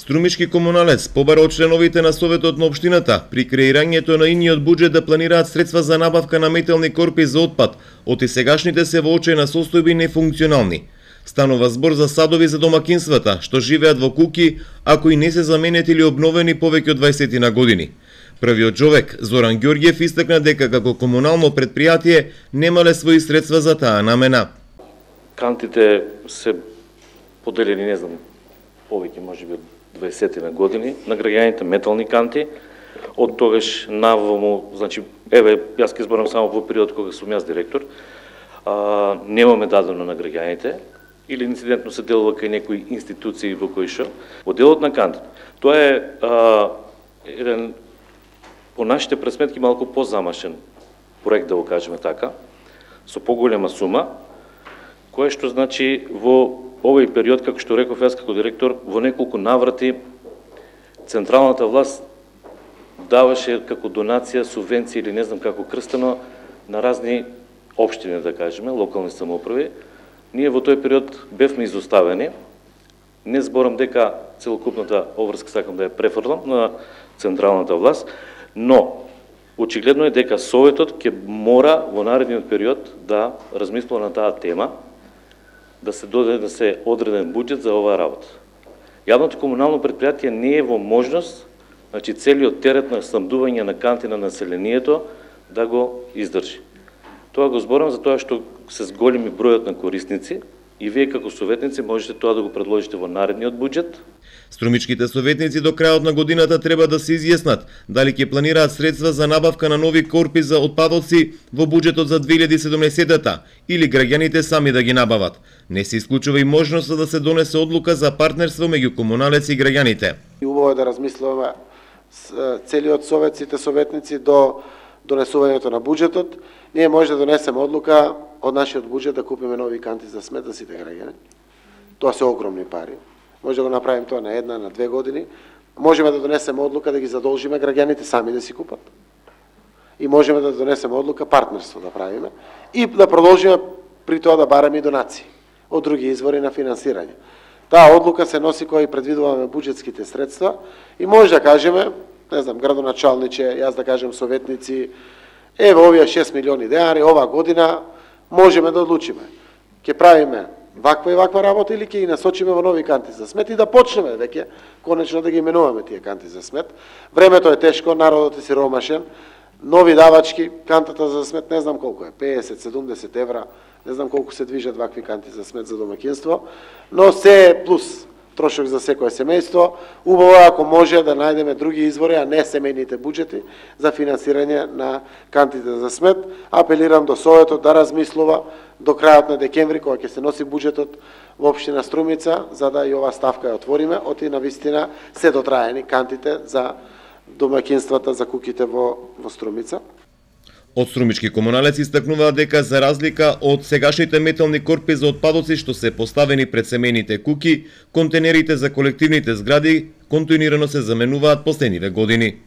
Струмички комуналец побара од членовите на Советот на општината при креирањето на иниот буџет да планираат средства за набавка на метални корпи за отпад, оти сегашните се во очајна состојби нефункционални. Станува збор за садови за домакинствата, што живеат во куќи, ако и не се заменети или обновени повеќе од 20 на години. Првиот човек, Зоран Ѓорѓев, истакна дека како комунално предпријатие немале свои средства за таа намена. Кантите се поделени, не знам, повеќе можеби 20 на години на граѓаните метални канти. Од тогаш наваму, значи, еве, јас ќе зборам само во период кога сум јас директор, немаме дадено на граѓаните, или инцидентно се делува кај некои институции во кои шо. Во делот на кантите, тоа е еден, по нашите пресметки, малку позамашен проект, да го кажеме така, со поголема сума, кој што значи во овој период, како што реков јас како директор, во неколку наврати централната власт даваше како донација, субвенција или не знам како крстено на разни општини, да кажеме, локални самоуправи. Ние во тој период бевме изоставени. Не зборам дека целокупната обврска сакам да ја префрлам на централната власт, но очигледно е дека Советот ќе мора во наредниот период да размислува на таа тема, да се додаде одреден буџет за оваа работа. Јавното комунално предпријатие не е во можност, значи целиот терет на снабдување на канти на населението да го издржи. Тоа го зборам за тоа што се зголеми бројот на корисници и вие како советници можете тоа да го предложите во наредниот буџет. Струмичките советници до крајот на годината треба да се изјаснат дали ќе планираат средства за набавка на нови корпи за отпадоци во буџетот за 2017-та или граѓаните сами да ги набават. Не се исклучува и можноста да се донесе одлука за партнерство меѓу комуналец и граѓаните. Убаво е да размислуваме целиот совет, сите советници до донесувањето на буџетот. Ние може да донесеме одлука од нашиот буџет да купиме нови канти за смет за сите граѓани. Тоа се огромни пари. Може да го направим тоа на една, на 2 години. Можеме да донесеме одлука да ги задолжиме граѓаните сами да си купат. И можеме да донесеме одлука партнерство да правиме и да продолжиме при тоа да бараме и донации од други извори на финансирање. Таа одлука се носи кога и предвидуваме буџетските средства и може да кажеме, не знам, градоначалниче, јас да кажем советници, еве овие 6 милиони денари оваа година можеме да одлучиме. Ќе правиме ваква и ваква работа или ќе ги насочиме во нови канти за смет и да почнеме веќе конечно да ги именуваме тие канти за смет. Времето е тешко, народот е сиромашен, нови давачки, кантата за смет не знам колку е, 50-70 евра, не знам колку се движат вакви канти за смет за домаќинство, но се е плюс трошок за секое семејство. Убаво ако може да најдеме други извори, а не семејните буџети за финансирање на кантите за смет. Апелирам до Советот да размислува до крајот на декември, кога ќе се носи буџетот во општина Струмица, за да и ова ставка ја отвориме, оти на вистина се дотраени кантите за домаќинствата, за куќите во Струмица. Од Струмички комуналец истакнуваат дека за разлика од сегашните метални корпи за отпадоци што се поставени пред семејните куќи, контейнерите за колективните згради континуирано се заменуваат последниве години.